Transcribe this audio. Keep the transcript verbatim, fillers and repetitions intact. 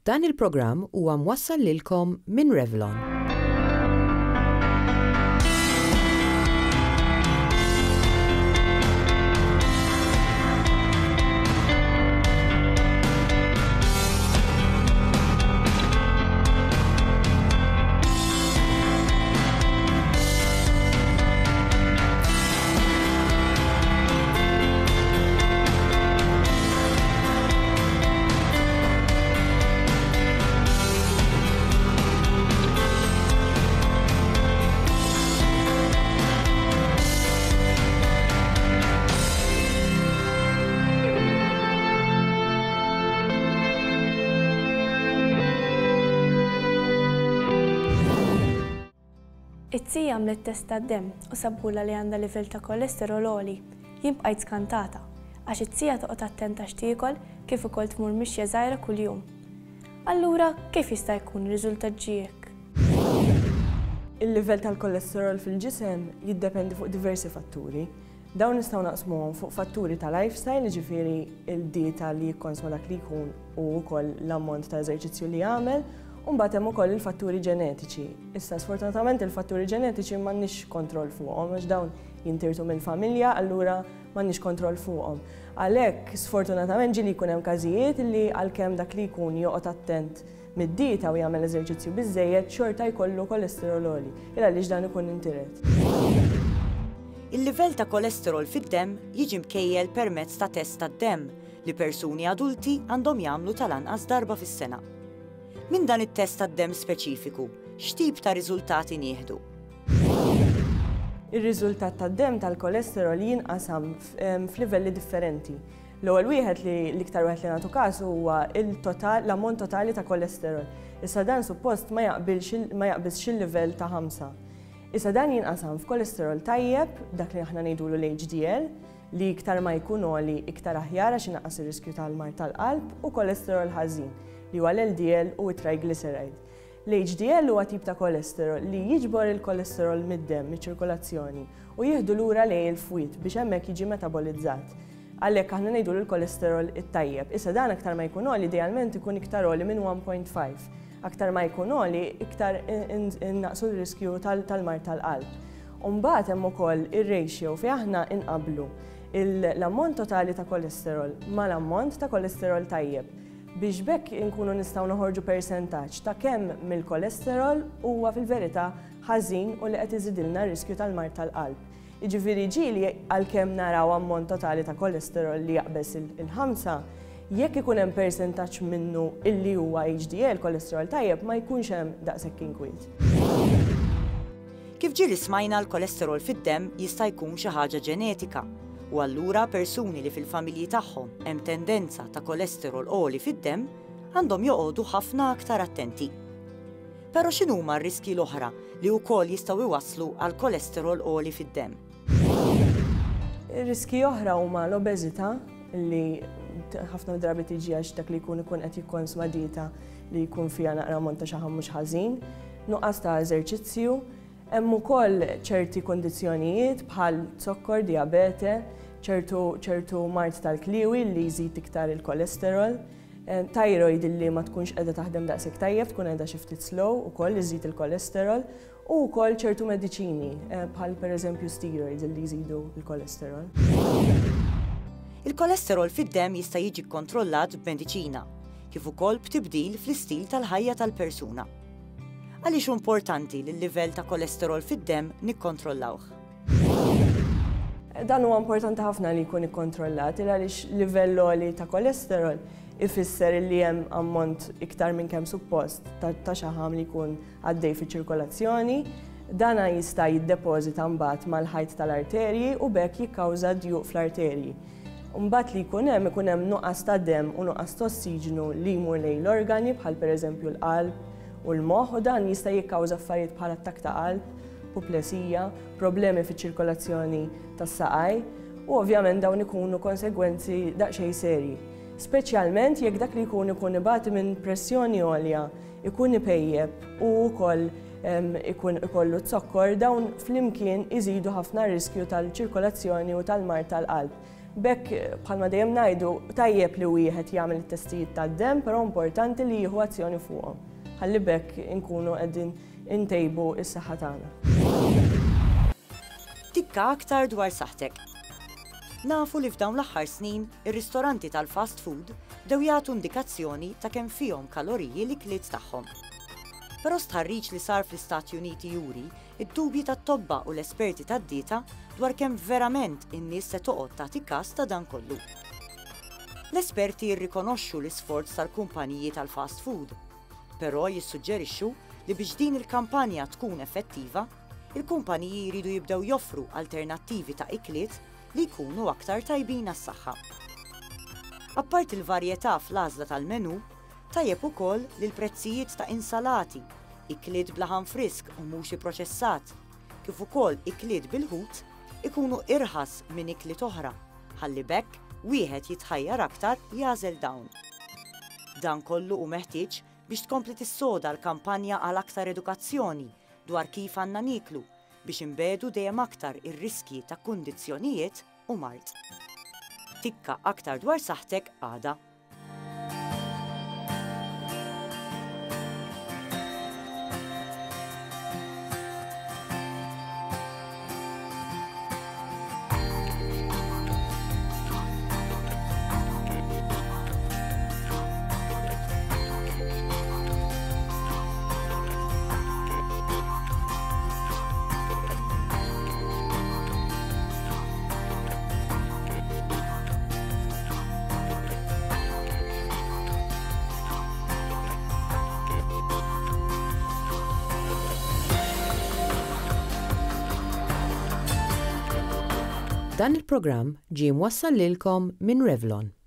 Dan il-programm huwa mwassal lilkom minn Revlon. It-tija għamlet test tad-demm u sabula li għandha livell ta' kolesterol għoli. Jien bqajt skantata għax it-tija toqgħod attenta x'tiekol kif ukoll tmur mixja żgħira kuljum. Allura kif jista' jkun riżultat ġie hekk? Il-livell tal-kolesterol fil-ġisem jiddependi fuq diversi fatturi. Dawn nistgħu naqsmuhom fuq fatturi ta' lifestyle, jiġifieri il-dieta li jikkonsma dak li jkun u wkoll l-ammont ta' eżerċizzju li jagħmel, u mbagħad hemm ukoll il-fatturi ġenetiċi. Issa sfortunatament il-fatturi ġenetiċi m'għandniex kontroll fuqhom għax dawn jintirtu mill-familja, allura m'għandniex kontroll fuqhom. Għalhekk sfortunatament ġieli jkun hemm każijiet li għalkemm dak li jkun joqgħod attent mid-dieta u jagħmel eżerċizzju biżżejjed xorta jkollu kolesterol għoli, il għaliex dan ikun intiret. Il-livell ta' kolesterol fid-demm jiġi mkejjel permezz ta' test tad-demm li persuni adulti għandhom jagħmlu tal-anqas darba fis-sena. Minn dan it-test tad-demm speċifiku, x'tip ta' riżultati nieħdu? Ir-riżultat tad-demm tal-kolesterol jinqasam f'livelli differenti. L-ewwel wieħed li l-iktar wieħed li nagħtu każ huwa il-total, l-ammont totali ta' kolesterol. Issa dan suppost ma jaqbilx ma jaqbiżx il-livell ta' ħamsa. Issa dan jinqasam f'kolesterol tajjeb, dak li aħna ngħidulu l-H D L, li iktar ma jkun għoli iktar aħjar għax inaqqas ir-riskju tal-mard tal-qalb, u kolesterol ħażin, li huwa l-L D L u t-triglyceride. L-H D L huwa tip ta' kolesterol li jiġbor il-kolesterol mid-demm, miċ-ċirkolazzjoni, u jieħdu lura lejn il-fwied biex hemmhekk jiġi metabolizzat. Għalhekk aħna ngħidu l-kolesterol it-tajjeb. Issa dan aktar ma jkun għoli, idealment ikun iktar għoli minn one point five. Aktar ma jkun għoli, iktar innaqsu l-riskju tal-mard tal-qalb. U mbagħad hemm ukoll ir-ratio fejn aħna inqablu l-ammont totali ta' kolesterol mal-ammont ta' kolesterol tajjeb, biex bekk inkunu nistgħu noħorġu persentaġġ ta' kemm mill-kolesterol huwa fil-verità ħażin u li qed iżidilna r-riskju tal-mard tal-qalb. Jiġifieri ġieli għalkemm naraw ammont totali ta' kolesterol li jaqbeż il-ħamsa, jekk ikun hemm persentaġġ minnu illi huwa H D L, kolesterol tajjeb, ma jkunx hemm daqshekk inkwiet. Kif ġieli smajna, l-kolesterol fid-demm jista' jkun xi ħaġa ġenetika, u allura persuni li fil-familji tagħhom hemm tendenza ta' kolesterol għoli fid-demm għandhom joqogħdu ħafna aktar attenti. Però x'inhuma r-riski l-oħra li wkoll jistgħu iwasslu għal kolesterol għoli fid-demm? Ir-riski oħra huma l-obeżità, li ħafna drabi tiġi għax dak li jkun ikun qed jikkonsma dieta li jkun fiha naqra ammont ta' xaħam mhux ħażin, nuqqas ta' eżerċizzju, hemm ukoll ċerti kondizzjonijiet bħal zokkor, diabete, ċertu, ċertu mard tal-kliwi li jżid iktar il-kolesterol, eh, thyroid li ma tkunx qiegħda taħdem daqshekk tajjeb, tkun qiegħda xi ftit slow ukoll iżid il-kolesterol, u wkoll ċertu mediċini, eh, bħal pereżempju steroids li jżidu l-kolesterol. Il-kolesterol fid-demm jista' jiġi kkontrollat b'mediċina, kif ukoll b'tibdil fl-istil tal-ħajja tal-persuna. Għaliex hu importanti li l-livell ta' kolesterol fid-demm nikkontrollawh? Dan huwa importanti ħafna li jkun ikkontrollat, il għaliex livell għoli ta' kolesterol ifisser li hemm ammont iktar minn kemm suppost ta', ta' xaħam li jkun għaddej fiċ-ċirkolazzjoni. Dana jista' jiddepożita mbagħad mal-ħajt tal-arterji u b'hekk jikkawża djuq fl-arterji. Mbagħad li jkun hemm ikun hemm nuqqas ta' demm u nuqqas ta' ossiġnu li jmur lejn l-organi bħal pereżempju l-qalb u l-moħħ, u dan jista' jikkawża affarijiet bħal attakk ta' qalb, puplesija, problemi fiċ-ċirkolazzjoni tas-saqaj, u ovvjament dawn ikunu konsegwenzi daqsxejn serji. Speċjalment jekk dak li jkun ikun ibati minn pressjoni għolja, ikun ipejjeb u wkoll, em, ikun ikollu zokkor, dawn flimkien iżidu ħafna riskju tal-ċirkolazzjoni u tal-mard tal-qalb. B'hekk, bħalma dejjem ngħidu, tajjeb li wieħed jagħmel it-testijiet tad-demm, però importanti li jieħu azzjoni fuqhom. Ħalli b'hekk inkunu qegħdin intejbu s-saħħa tagħna. Tikka aktar dwar saħħtek. Nafu li f'dawn l-aħħar snin ir-ristoranti tal-fast food bdew jagħtu indikazzjoni ta' kemm fihom kaloriji l-ikliet tagħhom. Però stħarriġ li sar fl-Istati Uniti juri id-dubji tat-tobba u l-esperti tad-dieta dwar kemm verament in-nies se toqgħod tagħti każ ta' dan kollu. L-esperti jirrikonoxxu l-isforz tal-kumpaniji tal-fast food, però jissuġġerixxu li biex din il-kampanja tkun effettiva, il-kumpaniji jridu jibdew joffru alternattivi ta' ikliet li jkunu aktar tajbin għas-saħħa. Apparti il-varjetà fl-għażla tal-menu, tajjeb ukoll li l-prezzijiet ta' insalati, ikliet b'laħam frisk u mhux ipproċessat, kif ukoll ikliet bil-ħut ikunu irħas minn ikliet oħra, ħalli b'hekk wieħed jitħajjar aktar jagħżel dawn. Dan kollu hu meħtieġ biex tkompli tissoda l-kampanja għal aktar edukazzjoni dwar kif għandna nieklu biex inbiegħdu dejjem aktar ir-riskji ta' kundizzjonijiet u mard. Tikka aktar dwar saħħtek għada. Dan il-programm ġie mwassal lilkom minn Revlon.